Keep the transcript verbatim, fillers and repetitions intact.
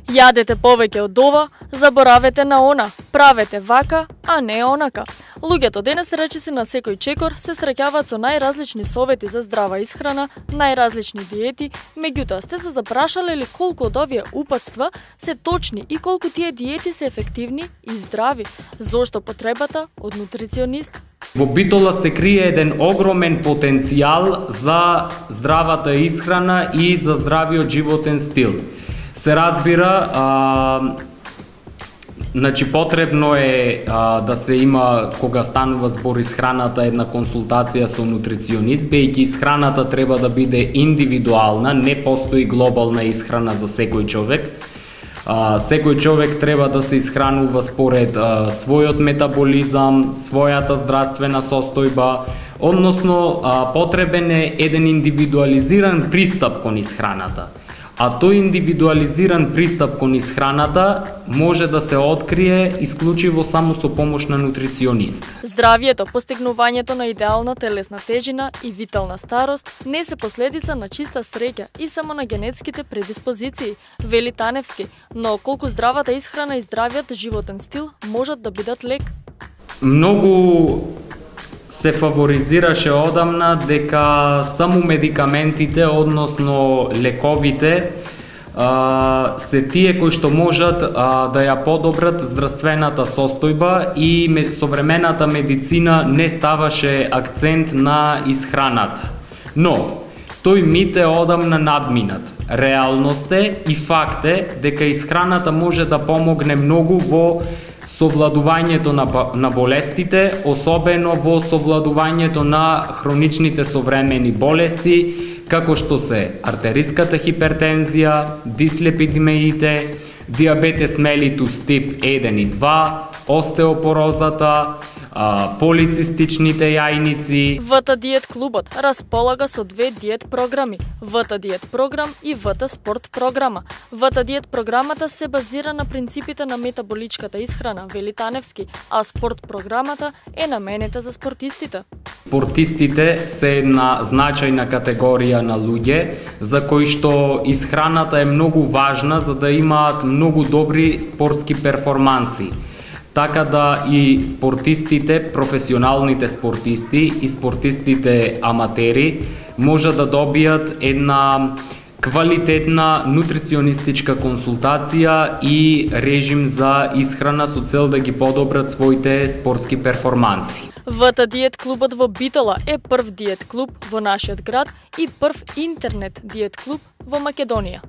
Јадете повеќе од ова, заборавете на она, правете вака, а не онака. Луѓето денес речиси на секој чекор се среќаваат со најразлични совети за здрава исхрана, најразлични диети, меѓутоа сте се запрашале ли колку од овие упатства се точни и колку тие диети се ефективни и здрави? Зошто потребата од нутриционист? Во Битола се крие еден огромен потенцијал за здравата исхрана и за здравиот животен стил. Се разбира, а, значи потребно е а, да се има, кога станува збор исхраната, една консултација со нутриционист, бејќи исхраната треба да биде индивидуална, не постои глобална исхрана за секој човек. А, секој човек треба да се исхранува според а, својот метаболизам, својата здравствена состојба, односно а, потребен е еден индивидуализиран пристап кон исхраната. А тој индивидуализиран пристап кон исхраната може да се открие исклучиво само со помош на нутриционист. Здравието, постигнувањето на идеална телесна тежина и витална старост не се последица на чиста среќа и само на генетските предиспозиции, вели Таневски, но колку здравата исхрана и здравиот животен стил можат да бидат лек. Многу се фаворизираше одамна дека само медикаментите, односно лековите, а, се тие кои што можат а, да ја подобрат здравствената состојба и современата медицина не ставаше акцент на исхраната. Но, тој мит е одамна надминат. Реалност е и факт е дека исхраната може да помогне многу во совладувањето на, на болестите, особено во совладувањето на хроничните современи болести, како што се артериската хипертензија, дислепидемиите, диабетес мелитус тип еден и два, остеопорозата, а, полицистичните јајници. ВТ Диет клубот располага со две диет програми, ВТ Диет програм и ВТ Спорт програма. ВТ Диет програмата се базира на принципите на метаболичката исхрана, вели Таневски, а Спорт програмата е наменета за спортистите. Спортистите се една значајна категорија на луѓе за кои што исхраната е многу важна за да имаат многу добри спортски перформанси. Така да и спортистите, професионалните спортисти и спортистите аматери може да добијат една квалитетна нутриционистичка консултација и режим за исхрана со цел да ги подобрат своите спортски перформанси. ВТ Диет клубот во Битола е прв диет клуб во нашиот град и прв интернет диет клуб во Македонија.